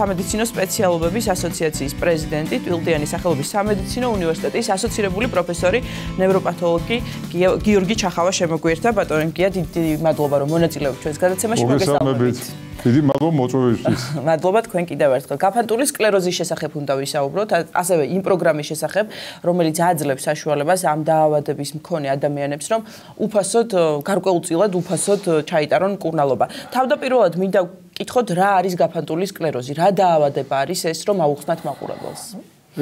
სამედიცინო სპეციალობების ასოციაციის პრეზიდენტი, ტვილდიანი სახელობის სამედიცინო უნივერსიტეტის ასოცირებული პროფესორი, ნევროპათოლოგი გიორგი ჩახავა შემოგვიერთდა. ბატონო გია, დიდი მადლობა რომ მონაწილეობთ ჩვენს გადაცემაში. მოგესალმებით. დიდი მადლობა მოწვევისთვის. მადლობა თქვენ კიდევ ერთხელ. გაფანტული სკლეროზის შესახებ უნდა ვისაუბროთ, ასევე იმ პროგრამის შესახებ, რომელიც აძლევს საშუალებას ამ დაავადების მქონე ადამიანებს, რომ უფასოდ, გარკვეულწილად უფასოდ ჩაიტარონ მკურნალობა. თავდაპირველად მინდა ვკითხოთ, რა არის გაფანტული სკლეროზი, რა დაავადება არის ეს, რომ აუხსნათ მაყურებელს?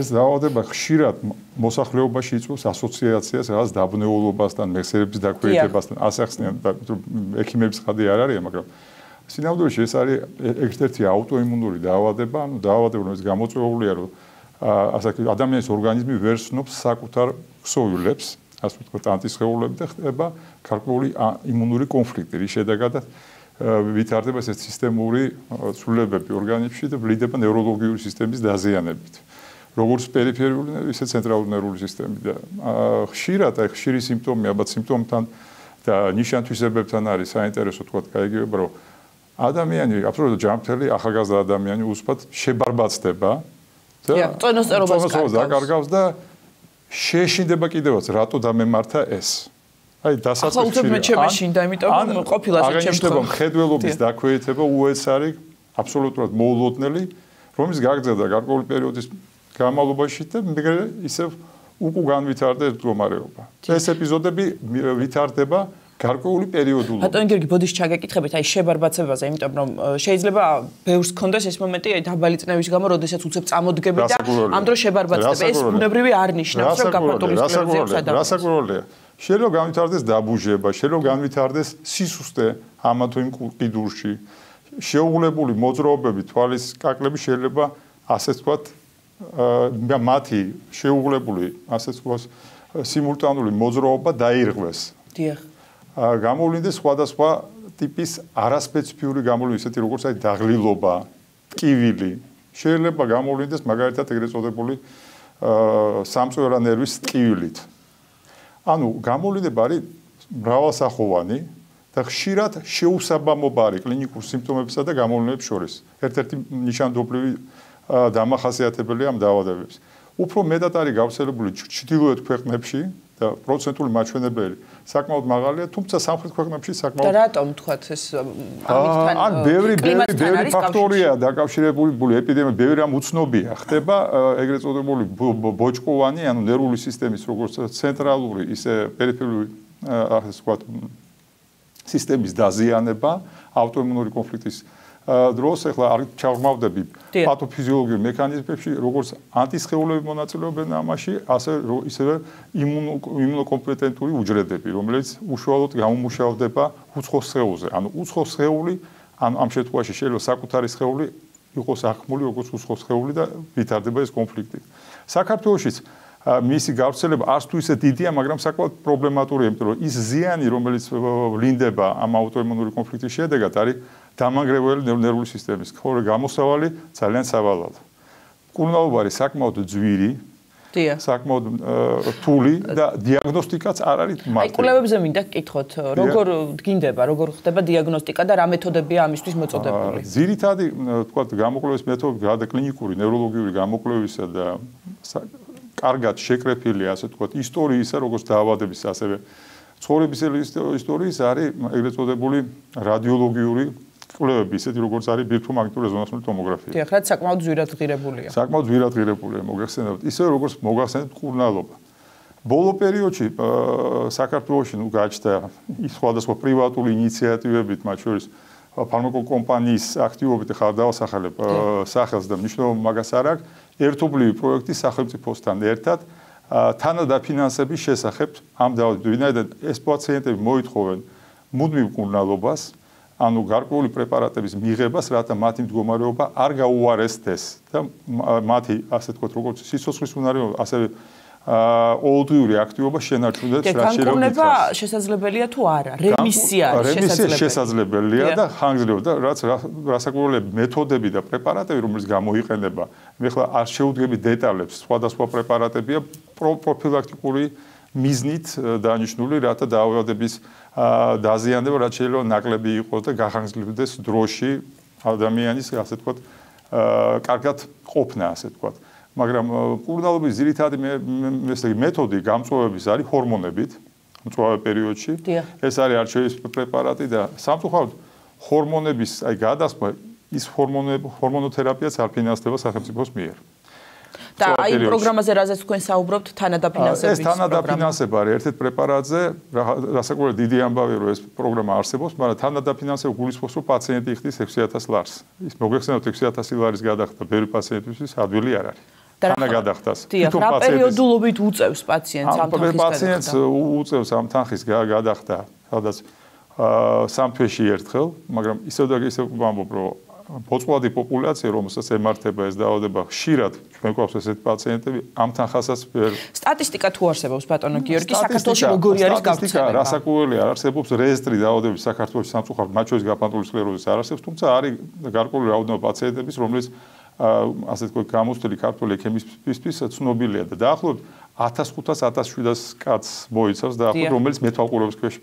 ეს დაავადება ხშირად მოსახლეობაში იწვევს ასოციაციას რაღაც დაბნეულობასთან, მეხსიერების დაქვეითებასთან, ასახსნიან, ექიმების ხადი არ არის, მაგრამ სინამდვილეში ეს არის ერთ-ერთი აუტოიმუნური დაავადება, ანუ დაავადება, რომელიც გამოწვეულია, რომ ასაკი ადამიანის ორგანიზმი ვერ სნობს საკუთარ ქსოვილებს, ასე ვთქვათ, ანტისხეულები და ხდება გარკვეული იმუნური კონფლიქტი, რის შედეგადაც ვითარდება ეს სისტემური ცვლილებები ორგანიზმში და ვლინდება ნევროლოგიური სისტემის დაზიანებით. როგორც პერიფერიული, ისე ცენტრალური ნერვული სისტემი და ხშირად აი ხშირი სიმპტომი, ალბათ სიმპტომთან და ნიშან-თვისებებთან არის საინტერესო თქვა გაიგებება, რომ ადამიანი აბსოლუტურად ჯანმრთელი ახალგაზრდა ადამიანი უსწრაფად შებარბაცდება და ტონოსტერობას დაკარგავს და შეეშინდება კიდევაც რატო დამემართა ეს. აი დასაწყისში ახლა უცებ მეშინდა, იმიტომ რომ ყოფილა ეს შემთხვევა. მხედველობის დაქვეითება უეცარი აბსოლუტურად მოულოდნელი, რომლის გაგრძელდა გარკვეული პერიოდის განმავლობაში და ისევ უკუ განვითარდა ეს მდგომარეობა. ეს ეპიზოდები ვითარდება გარკვეული პერიოდულად. ბატონო გიორგი, ბოდიში ჩაგეკითხებით, აი შებარბაცებაზე, იმიტომ რომ შეიძლება ბევრს ქონდეს ეს მომენტი, აი დაბალი წნევის გამო, როდესაც უცებ წამოდგები და ამ დროს შებარბაცდება. ეს ბუნებრივი არ ნიშნავს, რომ გაფანტული სკლეროზი აქვს ადამიანს. რასაკვირველია. შეიძლება განვითარდეს დაბუჟება, შეიძლება განვითარდეს სისუსტე ამა თუ იმ კიდურში. შეუღლებული მოძრაობები, თვალის კაკლები შეიძლება ასე ვთქვათ, მათი შეუღლებული, ასე ვთქვათ, სიმულტანური მოძრაობა დაირღვეს. დიახ. გამოვლინდეს სხვადასხვა ტიპის არასპეციფიური გამოვლინდა, ისეთი როგორც აი დაღლილობა, ტკივილი. შეიძლება გამოვლინდეს მაგალითად ეგრეთ წოდებული სამწვერა ნერვის ტკივილით. ანუ გამოვლინდება არის მრავალსახოვანი და ხშირად შეუსაბამობა არის კლინიკურ სიმპტომებსა და გამოვლინებებს შორის. ერთ-ერთი ნიშანდობლივი დამახასიათებელია ამ დაავადებების. უფრო მეტად არის გავრცელებული ჩრდილოეთ ქვეყნებში და პროცენტული მაჩვენებელი საკმაოდ მაღალია, თუმცა სამხრეთ ქვეყნებში საკმაოდ. და რატომ თქვათ ეს ამითთან? ან ბევრი ფაქტორია დაკავშირებული ეპიდემია, ბევრი ამ უცნობია. ხდება ეგრეთ წოდებული ბოჭკოვანი, ანუ ნერვული სისტემის როგორც ცენტრალური, ისე პერიფერიული, ასე ვთქვათ, სისტემის დაზიანება, აუტოიმუნური კონფლიქტის დროს ახლა არ ჩავღმავდები პათოფიზიოლოგიურ მექანიზმებში, როგორც ანტისხეულები მონაწილეობენ ამაში, ისევე იმუნოკომპეტენტური უჯრედები, რომელიც უშუალოდ გამომუშავდება უცხო სხეულზე. ანუ უცხო სხეული, ამ შემთხვევაში შეიძლება საკუთარი სხეული იყოს ახმული, როგორც უცხო სხეული და ვითარდება ეს კონფლიქტი. საქართველოშიც მისი გავრცელება არც თუ ისე დიდია, მაგრამ საკმაოდ პრობლემატურია, იმიტომ რომ ის ზიანი, რომელიც ვლინდება ამ აუტოიმუნური კონფლიქტის შედეგად, არის დამანგრეველი ნერვული სისტემის. ხოლო გამოსავალი ძალიან სავალალო. მკურნალობა არის საკმაოდ ძვირი, საკმაოდ რთული და დიაგნოსტიკაც არ არის მარტივი. აი კვლევებზე მინდა გკითხოთ, როგორ დგინდება, როგორ ხდება დიაგნოსტიკა და რა მეთოდებია ამისთვის მოწოდებული? ძირითადი, თქვათ, გამოკვლევის მეთოდი კლინიკური ნევროლოგიური გამოკვლევისა და კარგად შეკრეფილი, ასე ვთქვათ, ისტორიისა, როგორც დაავადების, ასევე ცხოვრების ისტორიის არის ეგრეთ წოდებული რადიოლოგიური კვლევები, ისეთი როგორც არის ბირთვომაგნიტური რეზონანსული ტომოგრაფია. დიახ, რაც საკმაოდ ძვირად ღირებულია. საკმაოდ ძვირად ღირებულია, მოგეხსენებათ. ისე როგორც მოგახსენებთ მკურნალობა. ბოლო პერიოდში საქართველოში გაჩნდა სხვადასხვა პრივატული ინიციატივებით, მათ შორის ფარმაკოკომპანიის აქტივობით ხარ დავასახელებ სახელს და მნიშვნელობა მაგას არ აქვს. ერთობლივი პროექტი სახელმწიფოსთან ერთად თანადაფინანსების შესახებ ამ დაავადებებს, ვინაიდან ეს პაციენტები მოითხოვენ მუდმივ მკურნალობას, ანუ გარკვეული პრეპარატების მიღებას, რათა მათი მდგომარეობა არ გაუარესდეს და მათი, ასე ვთქვათ, როგორც სიცოცხლის უნარიანობა, ასევე ოლდიური აქტივობა შენარჩუნდეს რა შეიძლება. განკურნება შესაძლებელია თუ არა? რემისია შესაძლებელია და ხანგრძლივი და რაც რასაკვირველია მეთოდები და პრეპარატები, რომელიც გამოიყენება, მე ხლა არ შევდგები დეტალებს, სხვადასხვა პრეპარატებია პროფილაქტიკური მიზნით დანიშნული, რათა დაავადების დაზიანება რაც შეიძლება ნაკლები იყოს და გახანგრძლივდეს დროში ადამიანის, ასე ვთქვათ, კარგად ყოფნა, ასე ვთქვათ. მაგრამ მკურნალობის ძირითადი მეთოდი გამწვავების არის ჰორმონებით, მწვავე პერიოდში. ეს არის არჩევის პრეპარატი და სამწუხაროდ ჰორმონების გადასხმა ის ჰორმონოთერაპიაც არ ფინანსდება სახელმწიფოს მიერ. და აი პროგრამაზე რაზეც თქვენ საუბრობთ თანადაფინანსების ეს თანადაფინანსება არის ერთ-ერთ პრეპარატზე, რასაკვირველია დიდი ამბავია რომ ეს პროგრამა არსებობს, მაგრამ თანადაფინანსება გულისხმობს რომ პაციენტი იხდის 6000 ლარს. ის მოგეხსენებათ 6000 ლარის გადახდა ბევრი პაციენტისთვის ადვილი არ არის. თანაგადახდას. თვითონ რა პერიოდულობით უწევს პაციენტს ამ თანხის გადახდა? პაციენტს უწევს ამ თანხის გადახდა, სადაც 3 თვეში ერთხელ, მაგრამ ისევ და ისევ ვამბობ რომ ბოწყვადი პოპულაცია, რომელსაც ემართება ეს დაავადება, ხშირად ჩვენ გვაქვს ესეთი პაციენტები, ამ თანხასაც სტატისტიკა თუ არსებობს ბატონო გიორგი, საქართველოში როგორი არის გავრცელება? რასაკვირველია, არსებობს რეესტრი დაავადებების საქართველოში სამწუხაროდ მათ შორის გაფანტული სკლეროზის არ არსებობს, თუმცა არის გარკვეული რაოდენობა პაციენტების, რომლებიც ასე თქვა გამოცდილი ქართული ექიმისთვის ცნობილია და დაახლოებით 1500-1700 კაცს მოიცავს დაახლოებით, რომელიც მეთვალყურეობის ქვეშ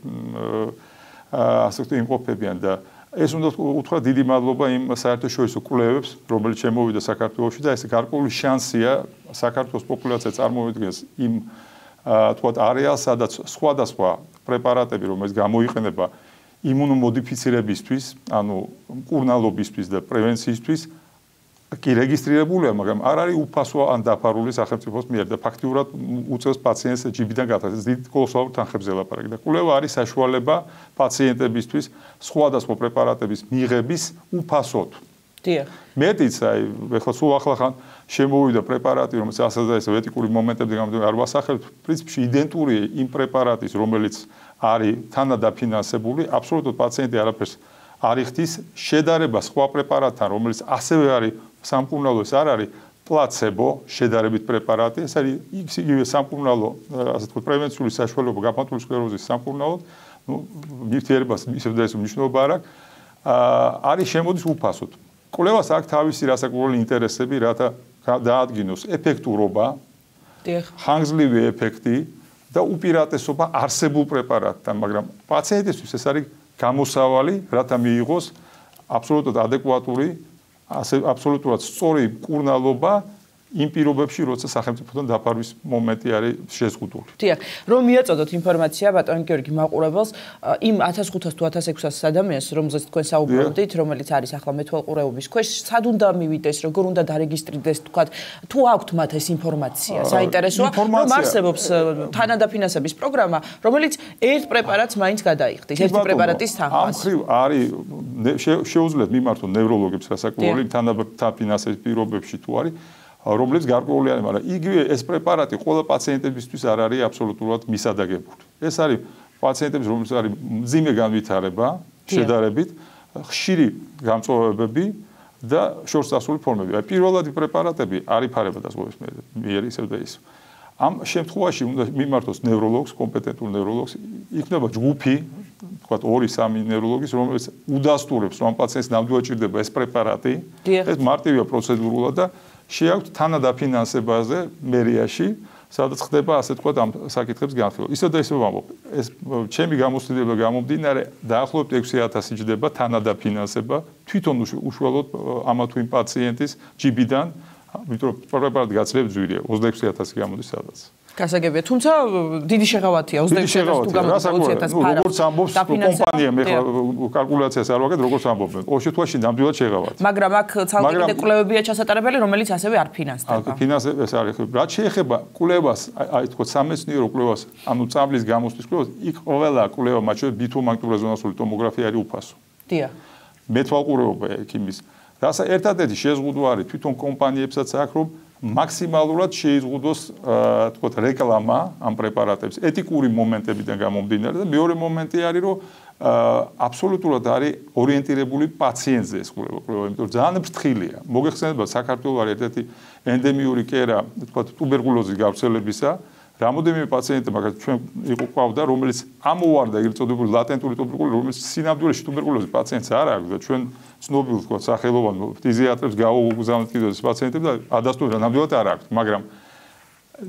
ასე თქვა იმყოფებიან და ეს უნდა უთხრა დიდი მადლობა იმ საერთაშორისო კვლევებს, რომელიც შემოვიდა საქართველოში და ეს გარკვეული შანსია საქართველოს პოპულაცია წარმოვიდგენს იმ თქვა არეალს, სადაც სხვადასხვა პრეპარატები, რომელიც გამოიყენება იმუნომოდიფიცირებისთვის, ანუ მკურნალობისთვის და პრევენციისთვის კი რეგისტრირებულია, მაგრამ არ არის უფასო ან დაფარული სახელმწიფოს მიერ და ფაქტიურად უწევს პაციენტს ჯიბიდან გადასცემას. დიდ კოლოსალურ თანხებზე ლაპარაკი და კვლევა არის საშუალება პაციენტებისთვის სხვადასხვა პრეპარატების მიღების უფასოდ. დიახ. მეტიც აი ეხლა სულ ახლახან შემოვიდა პრეპარატი, რომელიც ასე და ესე ეთიკური მომენტებზე გამოდიან არ ვასახელებ, პრინციპში იდენტურია იმ პრეპარატის, რომელიც არის თანადაფინანსებული, აბსოლუტურად პაციენტი არაფერს არ იხდის შედარება სხვა პრეპარატთან, რომელიც ასევე არის სამკურნალო, ეს არ არის პლაცებო შედარებით პრეპარატი, ეს არის იგივე სამკურნალო, ასე ვთქვათ, პრევენციული საშუალება გაფანტული სკლეროზის სამკურნალოდ, ну, ნივთიერებას ისევ და ისევ მნიშვნელობა არ აქვს, არის შემოდის უფასოდ. კვლევას აქვს თავისი რასაკვირველი ინტერესები, რათა დაადგინოს ეფექტურობა, ხანგრძლივი ეფექტი და უპირატესობა არსებულ პრეპარატთან, მაგრამ პაციენტისთვის ეს არის გამოსავალი, რათა მიიღოს აბსოლუტურად ადეკვატური, აბსოლუტურად სწორი მკურნალობა იმ პირობებში, როცა სახელმწიფოდან დაფარვის მომენტი არის შეზღუდული. დიახ, რომ მიაწოდოთ ინფორმაცია ბატონ გიორგი მაყურებელს, იმ 1500 თუ 1600 ადამიანს, რომელზეც თქვენ საუბრობდით, რომელიც არის ახლა მეთვალყურეობის ქვეშ, სად უნდა მივიდეს, როგორ უნდა დარეგისტრირდეს, თქვათ, თუ აქვთ მათ ეს ინფორმაცია, საინტერესოა, რომ არსებობს თანადაფინანსების პროგრამა, რომელიც ერთ პრეპარატს მაინც გადაიხდის, ერთი პრეპარატის თანხას. ამ ხრივ არის შეუძლიათ მიმართონ ნევროლოგებს რასაკვირველი თანადაფინანსების პირობებში თუ არის რომლებიც გარკვეული არის, მაგრამ იგივე ეს პრეპარატი ყველა პაციენტებისთვის არ არის აბსოლუტურად მისადაგებული. ეს არის პაციენტების, რომლებიც არის მძიმე განვითარება, შედარებით, ხშირი გამწვავებები და შორს წასული ფორმები. აი პირველადი პრეპარატები არ იფარება დაზღვევის მიერ ისევ და ისევ. ამ შემთხვევაში უნდა მიმართოს ნევროლოგს, კომპეტენტურ ნევროლოგს, იქნება ჯგუფი, თქვათ 2-3 ნევროლოგის, რომელიც უდასტურებს, რომ ამ პაციენტს ნამდვილად ჭირდება ეს პრეპარატი. ეს მარტივია პროცედურულად და შეაქვთ თანადაფინანსებაზე მერიაში, სადაც ხდება ასე თქვა ამ საკითხებს განხილვა. ისე და ისე ვამბობ, ეს ჩემი გამოცდილება გამომდინარე დაახლოებით 6000 ჯდება თანადაფინანსება თვითონ უშუალოდ ამა თუ იმ პაციენტის ჯიბიდან, იმიტომ რომ პრეპარატი გაცილებით ძვირია, 26000 გამოდის სადაც. გასაგებია, თუმცა დიდი შეღავათია 26000 თუ გამოდის 20000 ფარა. როგორც ამბობს კომპანია, მე კალკულაციას არ ვაკეთებ, როგორც ამბობენ. ოშე თვაში ნამდვილად შეღავათია. მაგრამ აქ ცალკე კვლევებია ჩასატარებელი, რომელიც ასევე არ ფინანსდება. ფინანსება ეს არის. რაც შეეხება კვლევას, აი თქო სამეცნიერო კვლევას, ანუ წამლის გამოსვლის კვლევას, იქ ყველა კვლევა, მათ შორის ბითუმაგნიტურეზონანსული ტომოგრაფია არის უფასო. დიახ. მეთვალყურეობა ექიმის. რასაც ერთადერთი შეზღუდვა არის თვითონ კომპანიებსაც აქვს, რომ მაქსიმალურად შეიზღუდოს თქო რეკლამა ამ პრეპარატებს ეთიკური მომენტებიდან გამომდინარე და მეორე მომენტი არის რომ აბსოლუტურად არის ორიენტირებული პაციენტზე ეს კვლევა, იმიტომ რომ ძალიან ფრთხილია. მოგეხსენებათ საქართველოს არის ერთ-ერთი ენდემიური კერა, თქო ტუბერკულოზის გავრცელებისა. რამოდენიმე პაციენტი მაგალითად ჩვენ იყო ყავდა, რომელიც ამოვარდა ეგრეთ წოდებული ლატენტური ტუბერკულოზი, რომელიც სინამდვილეში ტუბერკულოზის პაციენტს არ აქვს და ჩვენ ცნობილ თქო სახელოვან ფიზიატრებს გავუგზავნით კიდევ ეს პაციენტები და ადასტურდა ნამდვილად არ აქვს, მაგრამ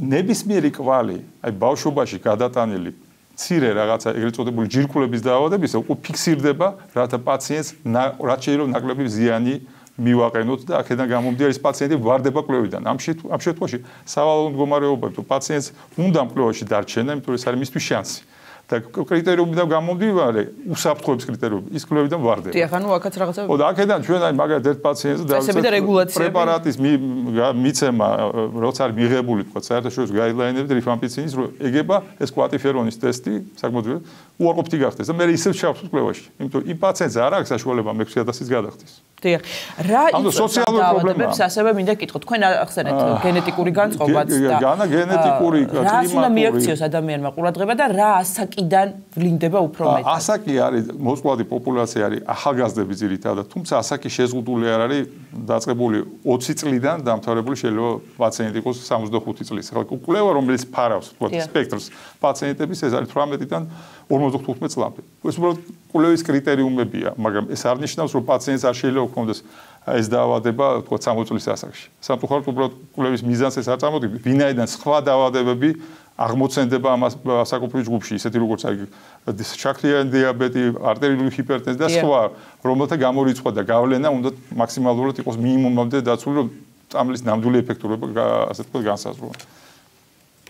ნებისმიერი კვალი, აი ბავშვობაში გადატანილი მცირე რაღაცა ეგრეთ წოდებული ჯირკვლების დაავადებისა უკვე ფიქსირდება, რათა პაციენტს რაც შეიძლება ნაკლები ზიანი მივაყენოთ და აქედან გამომდინარე ის პაციენტი ვარდება კვლევიდან. ამ შემთხვევაში სავალალო მდგომარეობაა, თუ პაციენტს უნდა კვლევაში დარჩენა, იმიტომ რომ ეს არის მისთვის შანსი. და კრიტერიუმიდან გამომდინარე, უსაფრთხოების კრიტერიუმი, ის კვლევიდან ვარდება. დიახ, ანუ აქაც რაღაცა. და აქედან ჩვენ აი მაგალითად ერთ პაციენტს პრეპარატის მიცემა, როცა არის მიღებული, თქვა, საერთაშორისო გაიდლაინებით რიფამპიცინის, რომ ეგება ეს კვატიფერონის ტესტი, საკმაოდ უარყოფითი გახდეს და მე ისევ ჩავსვით კვლევაში. იმიტომ იმ პაციენტს არ აქვს საშუალება 6000-ის გადახდის. დიახ. რა სოციალური პრობლემებს ასევე მინდა გითხოთ. თქვენ ახსენეთ გენეტიკური განწყობაც და განა გენეტიკური კლიმატური. რა უნდა მიაქციოს ადამიანმა ყურადღება და რა ასაკიდან ვლინდება უფრო მეტად? ასაკი არის მოწყვლადი პოპულაცია არის ახალგაზრდები ძირითადად, თუმცა ასაკი შეზღუდული არ არის დაწყებული 20 წლიდან დამთავრებული შეიძლება პაციენტი იყოს 65 წლის. ხო, კვლევა რომელიც ფარავს, თქვა, სპექტრს პაციენტების ეს არის 18-დან 55 წლამდე. ეს უბრალოდ კვლევის კრიტერიუმებია, მაგრამ ეს არ ნიშნავს, რომ პაციენტს არ შეიძლება ჰქონდეს ეს დაავადება, თქვა, 60 წლის ასაკში. სამწუხაროდ უბრალოდ კვლევის მიზანს ეს არ წარმოადგენს, ვინაიდან სხვა დაავადებები აღმოცენდება ამას საკუთრივ ჯგუფში, ისეთი როგორც აი შაქრიანი დიაბეტი, არტერიული ჰიპერტენზია და სხვა, რომელთა გამორიცხვა და გავლენა უნდა მაქსიმალურად იყოს მინიმუმამდე დაცული, რომ წამლის ნამდვილი ეფექტურობა ასე თქვა განსაზღვროს.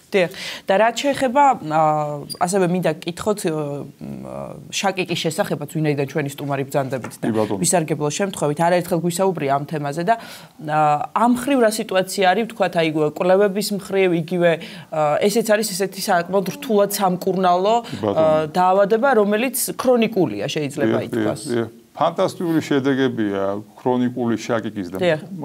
დიახ. და რაც შეეხება ასევე მინდა გკითხოთ შაკიკის შესახებაც, ვინაიდან ჩვენი სტუმარი ბრძანდებით და ვისარგებლო შემთხვევით არაერთხელ გვისაუბრია ამ თემაზე და ამ მხრივ რა სიტუაცია არის, ვთქვათ, აი კვლევების მხრივ, იგივე ესეც არის ესეთი საკმაოდ რთულად სამკურნალო დაავადება, რომელიც ქრონიკულია, შეიძლება ითქვას. ფანტასტიკური შედეგებია ქრონიკული შაკიკის და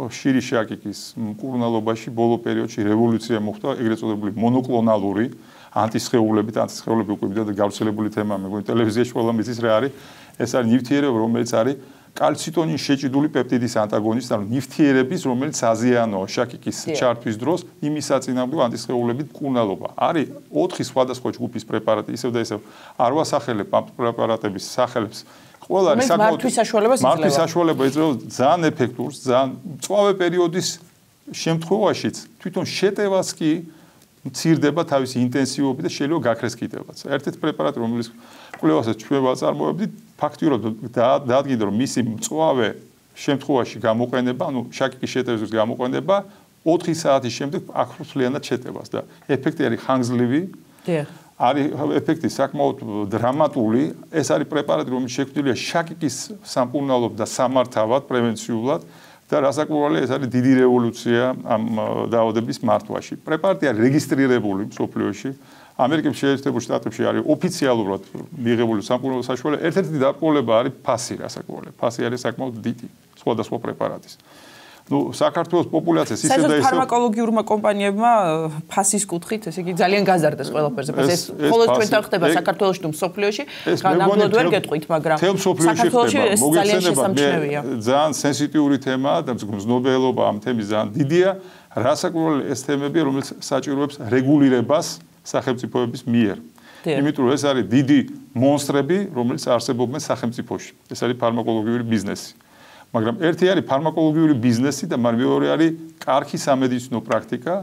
ხშირი შაკიკის მკურნალობაში ბოლო პერიოდში რევოლუცია მოხდა, ეგრეთ წოდებული მონოკლონალური ანტისხეულებით, ანტისხეულები უკვე მიდოდა გავრცელებული თემაა, მეგონი ტელევიზიაში ყველა მიცის რა არის, ეს არის ნივთიერება, რომელიც არის კალციტონის შეჭიდული პეპტიდის ანტაგონისტი, ანუ ნივთიერების, რომელიც აზიანოა შაკიკის ჩართვის დროს, იმის საწინააღმდეგო ანტისხეულებით მკურნალობა. არის 4 სხვადასხვა ჯგუფის პრეპარატი, ისევ და ისევ არ ვასახელებ ამ პრეპარატების სახელებს. ყველა არის მართვის საშუალება იძლევა ძალიან ეფექტურს, ძალიან მწვავე პერიოდის შემთხვევაშიც თვითონ შეტევას კი მცირდება თავისი ინტენსივობით და შეიძლება გაქრეს კიდევაც. ერთ-ერთი პრეპარატი, რომელიც კვლევასაც ჩვენ ვაწარმოებდით, ფაქტიურად დაადგინდა, რომ მისი მწვავე შემთხვევაში გამოყენება, ანუ შაკიკის შეტევის გამოყენება 4 საათის შემდეგ ახლოსლიანად შეტევას და ეფექტი არის ხანგრძლივი. დიახ. არის ეფექტი საკმაოდ დრამატული. ეს არის პრეპარატი, რომელიც შექმნილია შაკიკის სამკურნალოდ და სამართავად, პრევენციულად და რასაკვირველია, ეს არის დიდი რევოლუცია ამ დაავადების მართვაში. პრეპარატი არის რეგისტრირებული მსოფლიოში. ამერიკის შეერთებულ შტატებში არის ოფიციალურად მიღებული სამკურნალო საშუალება. ერთ-ერთი დაკმაყოფილება არის ფასი, რასაკვირველია. ფასი არის საკმაოდ დიდი სხვადასხვა პრეპარატის. ნუ საქართველოს პოპულაციას ისე და ისე ფარმაკოლოგიურმა კომპანიებმა ფასის კუთხით, ესე იგი ძალიან გაზარდეს ყველაფერზე. ეს მხოლოდ ჩვენთან ხდება საქართველოში თუ მსოფლიოში, განამდვილად ვერ გეტყვით, მაგრამ საქართველოში ეს ძალიან შესამჩნევია. ძალიან სენსიტიური თემაა და მზნობელობა ამ თემის ძალიან დიდია. რასაკვირველია ეს თემები, რომელიც საჭიროებს რეგულირებას სახელმწიფოების მიერ. იმიტომ რომ ეს არის დიდი მონსტრები, რომელიც არსებობენ სახელმწიფოში. ეს არის ფარმაკოლოგიური ბიზნესი. მაგრამ ერთი არის ფარმაკოლოგიური ბიზნესი და მეორე არის კარგი სამედიცინო პრაქტიკა,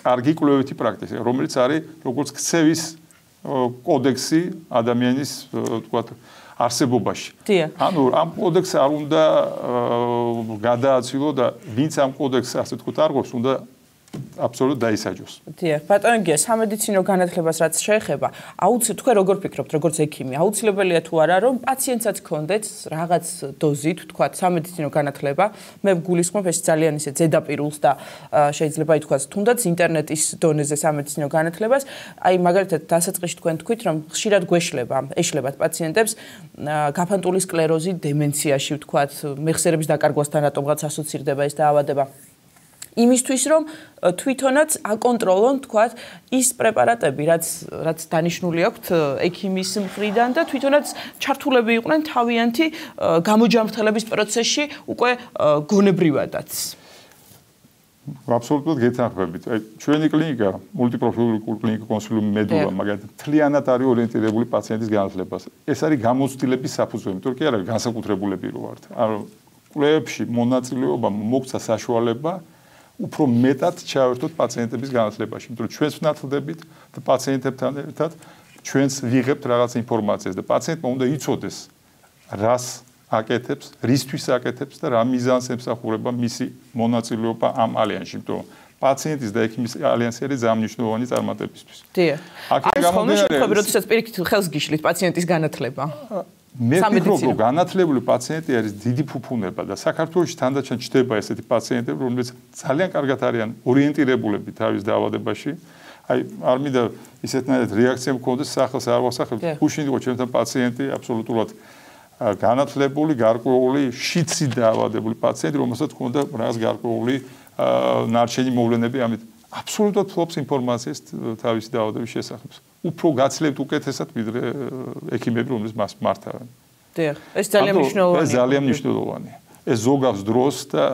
კარგი კვლევითი პრაქტიკა, რომელიც არის როგორც ქცევის კოდექსი ადამიანის, თქვათ, არსებობაში. ანუ ამ კოდექსს არ უნდა გადააცილო და ვინც ამ კოდექსს ასე თქვათ არგობს, უნდა აბსოლუტურად დაისაჯოს. დიახ, ბატონო გია, სამედიცინო განათლებას რაც შეეხება, თქვენ როგორ ფიქრობთ, როგორც ექიმი, აუცილებელია თუ არა, რომ პაციენტსაც ჰქონდეს რაღაც დოზით, თქვა, სამედიცინო განათლება. მე გულისხმობ ეს ძალიან ისე ზედაპირულს და შეიძლება ითქვას, თუნდაც ინტერნეტის დონეზე სამედიცინო განათლებას, აი მაგალითად დასაწყისში თქვენ თქვით, რომ ხშირად ეშლებათ პაციენტებს გაფანტული სკლეროზი დემენციაში, თქვა, მეხსიერების დაკარგვასთან რატომღაც ასოცირდება ეს დაავადება. იმისთვის რომ თვითონაც აკონტროლონ, თქვათ, ის პრეპარატები, რაც დანიშნული აქვთ ექიმის მხრიდან და თვითონაც ჩართულები იყვნენ თავიანთი გამოჯანმრთელების პროცესში უკვე გონებრივადაც. აბსოლუტურად გეთანხმებით. ჩვენი კლინიკა, მულტიპროფილური კლინიკა კონსილიუმი მედულა, მაგალითად, მთლიანად არის ორიენტირებული პაციენტის განათლებას. ეს არის გამოცდილების საფუძველი, თორე კი არა განსაკუთრებულები რო ვართ. ანუ კვლევებში მონაწილეობა მოგცა საშუალება უფრო მეტად ჩავერთოთ პაციენტების განათლებაში, იმიტომ რომ ჩვენს ვნათლდებით და პაციენტებთან ერთად ჩვენს ვიღებთ რაღაც ინფორმაციას და პაციენტმა უნდა იცოდეს, რას აკეთებს, რისთვის აკეთებს და რა მიზანს ემსახურება მისი მონაწილეობა ამ ალიანსში, იმიტომ რომ პაციენტის და ექიმის ალიანსი არის ძალიან წარმატებისთვის. დიახ. არის ხოლმე შემთხვევები, როდესაც პირიქით ხელს გიშლით პაციენტის განათლება. მე ვფიქრობ, რომ განათლებული პაციენტი არის დიდი ფუფუნება და საქართველოში თანდაჩენ ჩდება ესეთი პაციენტები, რომლებიც ძალიან კარგად არიან ორიენტირებულები თავის დაავადებაში. აი, არ მინდა ისეთნაირად რეაქცია მქონდეს სახელს არ ვასახებ. გუშინ იყო ჩემთან პაციენტი აბსოლუტურად განათლებული, გარკვეული შიცი დაავადებული პაციენტი, რომელსაც ჰქონდა რაღაც გარკვეული ნარჩენი მოვლენები, ამით აბსოლუტურად ფლობს ინფორმაციას თავისი დაავადების შესახებ. უფრო გაცლებთ უკეთესად ვიდრე ექიმები, რომლებიც მას მართავენ. დიახ, ეს ძალიან მნიშვნელოვანია. ეს ძალიან მნიშვნელოვანია. ეს ზოგავს დროს და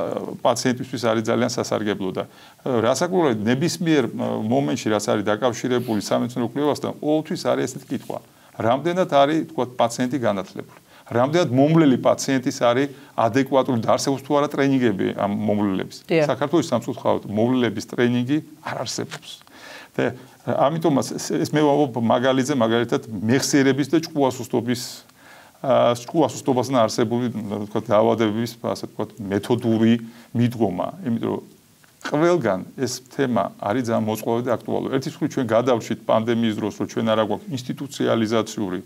პაციენტისთვის არის ძალიან სასარგებლო და რასაკვირველია ნებისმიერ მომენტში რაც არის დაკავშირებული სამეცნიერო კვლევასთან, ყოველთვის არის ესეთი კითხვა. რამდენად არის, თქვა, პაციენტი განათლებული? რამდენად მომვლელი პაციენტის არის ადეკვატური და არსებობს თუ არა ტრენინგები ამ მომვლელების. საქართველოს სამწუხაროდ მომვლელების ტრენინგი არ არსებობს. და ამიტომაც ეს მე ვამბობ მაგალითად მეხსიერების და ჭკუასუსტობასთან არსებული თქვა დაავადებების ასე თქვა მეთოდური მიდგომა, იმიტომ რომ ყველგან ეს თემა არის ძალიან მოწყვლადი და აქტუალური. ერთის მხრივ ჩვენ გადავრჩით პანდემიის დროს, რომ ჩვენ არ აქვს ინსტიტუციალიზაციური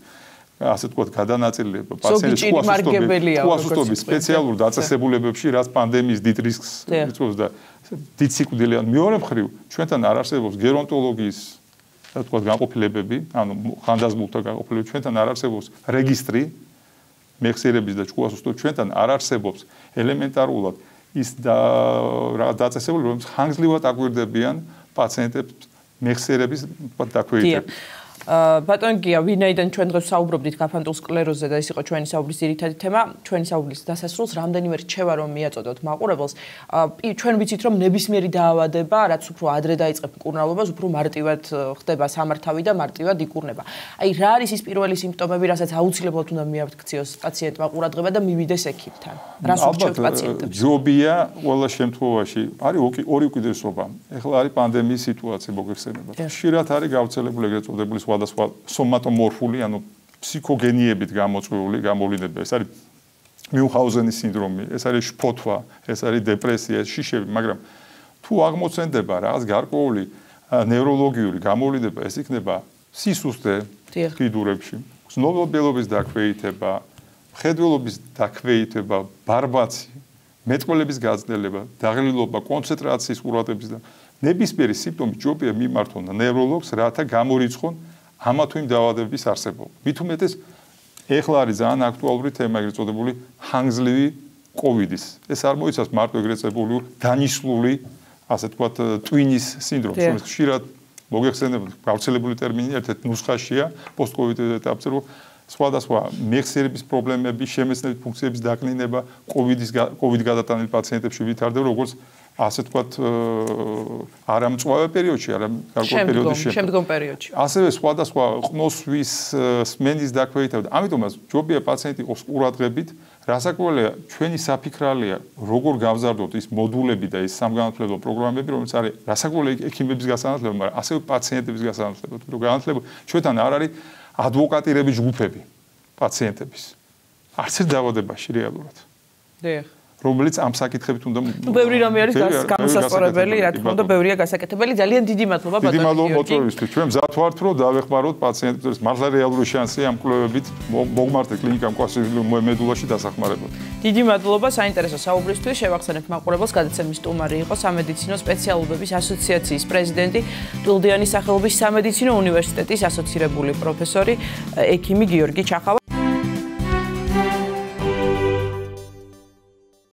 ასე თქვა გადანაწილება პაციენტის ჭკუასუსტობის სპეციალურ დაწესებულებებში, რაც პანდემიის დიდ რისკს იწვევს და დიდ სიკვდილიან. მეორე მხრივ ჩვენთან არ არსებობს გერონტოლოგიის თქვა განყოფილებები, ანუ ხანდაზმულთა განყოფილებები, ჩვენთან არ არსებობს რეგისტრი მეხსიერების და ჭკუასუსტობის, ჩვენთან არ არსებობს ელემენტარულად ის დაწესებულება, რომელიც ხანგრძლივად აკვირდებიან პაციენტებს მეხსიერების დაქვეითებით. ბატონ გია, ვინაიდან ჩვენ დღეს საუბრობდით გაფანტულ სკლეროზზე და ეს იყო ჩვენი საუბრის ძირითადი თემა, ჩვენი საუბრის დასასრულს რამდენიმე რჩევა რომ მიაწოდოთ მაყურებელს, ჩვენ ვიცით რომ ნებისმიერი დაავადება, რაც უფრო ადრე დაიწყებს მკურნალობას, უფრო მარტივად ხდება სამართავი და მარტივად იკურნება. აი, რა არის ის პირველი სიმპტომები, რასაც აუცილებლად უნდა მიაქციოს პაციენტმა ყურადღება და მივიდეს ექიმთან? რას ურჩევთ პაციენტებს? ჯობია ყველა შემთხვევაში, არის ორი უკიდურესობა. ეხლა არის პანდემიის სიტუაცია მოგეხსენებათ. ხშირად არის გავრცელებული ეგრეთ წოდებული სხვადასხვა სომატომორფული, ანუ ფსიქოგენიებით გამოწვეული გამოვლინებები. ეს არის მიუნხაუზენის სინდრომი, ეს არის შფოთვა, ეს არის დეპრესია, ეს შიშები, მაგრამ თუ აღმოცენდება რაღაც გარკვეული ნევროლოგიური გამოვლინება, ეს იქნება სისუსტე კიდურებში, ცნობილობის დაქვეითება, მხედველობის დაქვეითება, ბარბაცი, მეტყველების გაძლება, დაღლილობა, კონცენტრაციის ყურადღების და ნებისმიერი სიმპტომი ჯობია მიმართონ ნევროლოგს, რათა გამორიცხონ ამა თუ იმ დაავადებების არსებობა. მით უმეტეს ეხლა არის ძალიან აქტუალური თემა, ეგრეთ წოდებული ხანგრძლივი კოვიდის. ეს არ მოიცავს მარტო ეგრეთ წოდებული დანიშნული, ასე ვთქვათ, ტვინის სინდრომს, რომელიც ხშირად მოგეხსენებათ, გავრცელებული ტერმინია, ერთ-ერთი ნუსხაშია პოსტკოვიდურ ეტაპზე, რომ სხვადასხვა მეხსიერების პრობლემები, შემეცნების ფუნქციების დაკნინება კოვიდ გადატანილ პაციენტებში ვითარდება, როგორც ასე ვთქვათ, არამწვავე პერიოდში, გარკვეულ პერიოდში. შემდგომ პერიოდში. ასევე სხვადასხვა ყნოსვის, სმენის დაქვეითება. ამიტომაც ჯობია პაციენტი იყოს ყურადღებით, რასაკვირველია, ჩვენი საფიქრალია, როგორ გავზარდოთ ის მოდულები და ის სამგანათლებლო პროგრამები, რომელიც არის რასაკვირველია ექიმების გასანათლებლად, მაგრამ ასევე პაციენტების გასანათლებლად. რომ განათლება ჩვენთან არ არის ადვოკატირების ჯგუფები პაციენტების. არც ერთ დაავადებაში რეალურად. დიახ. რომელიც ამ საკითხებით უნდა ბევრი რამე არის გამოსასწორებელი, რა თქმა უნდა, ბევრია გასაკეთებელი. ძალიან დიდი მადლობა ბატონო. დიდი მადლობა მოწვევისთვის. ჩვენ მზად ვართ, რომ დავეხმაროთ პაციენტებს, მართლა რეალური შანსია ამ კვლევებით მოგმართეთ კლინიკამ კვასილი მედულაში დასახმარებლად. დიდი მადლობა საინტერესო საუბრისთვის. შევახსენებთ მაყურებელს, გადაცემის სტუმარი იყო სამედიცინო სპეციალობების ასოციაციის პრეზიდენტი, ტვილდიანის სახელობის სამედიცინო უნივერსიტეტის ასოცირებული პროფესორი, ექიმი გიორგი ჩახავა.